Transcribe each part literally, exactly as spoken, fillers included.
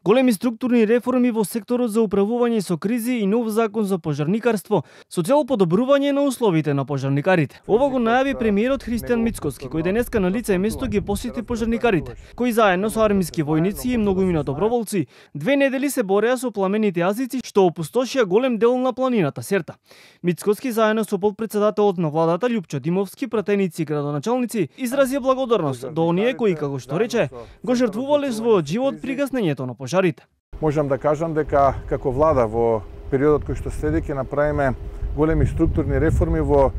Големи структурни реформи во секторот за управување со кризи и нов закон за пожарникарство со цел подобрување на условите на пожарникарите. Ова го најави премиерот Христијан Мицкоски, кој денеска на лице место ги посети пожарникарите, кои заедно со армиски војници и многумина доброволци две недели се бореа со пламените јазици што опустошија голем дел на планината Серта. Мицкоски заедно со потпредседателот на владата Љупчо Димовски, пратеници и градоначалници изразија благодарност до оние кои, како што рече, го жртвувале својот живот при гаснењето на пожарите. Можам да кажам дека како влада во периодот кој што следи ќе направиме големи структурни реформи во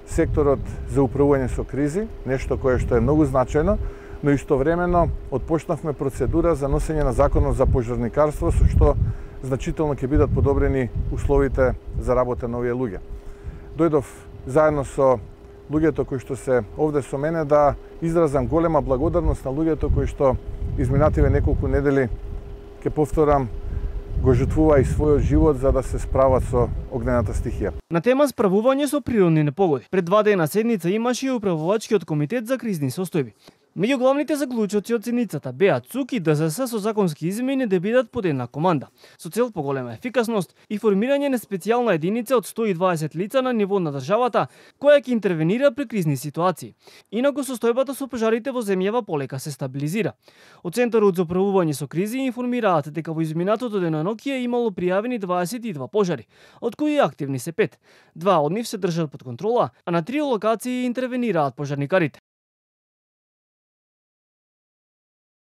секторот за управување со кризи, нешто кое што е многу значајно, но истовремено отпочнавме процедура за носење на законот за пожарникарство, со што значително ќе бидат подобрени условите за работа на овие луѓе. Дојдов заедно со луѓето кои што се овде со мене да изразам голема благодарност на луѓето кои што изминативе неколку недели, ќе повторам, го жртвува и својот живот за да се справат со огнената стихија. На тема справување со природни непогоди, пред два дена седница имаше и управувачкиот комитет за кризни состојби. Меѓу главните заклучоци од седницата беа ЦУК и ДЗС со законски измени да бидат под една команда, со цел поголема ефикасност и формирање на специјална единица од сто и дваесет лица на ниво на државата, која ќе интервенира при кризни ситуации. Инаку состојбата со пожарите во земјава полека се стабилизира. Од Центарот за управување со кризи информираат дека во изминатото денонокие имало пријавени дваесет и два пожари, од кои активни се пет. Два од нив се држат под контрола, а на три локации интервенираат пожарникарите.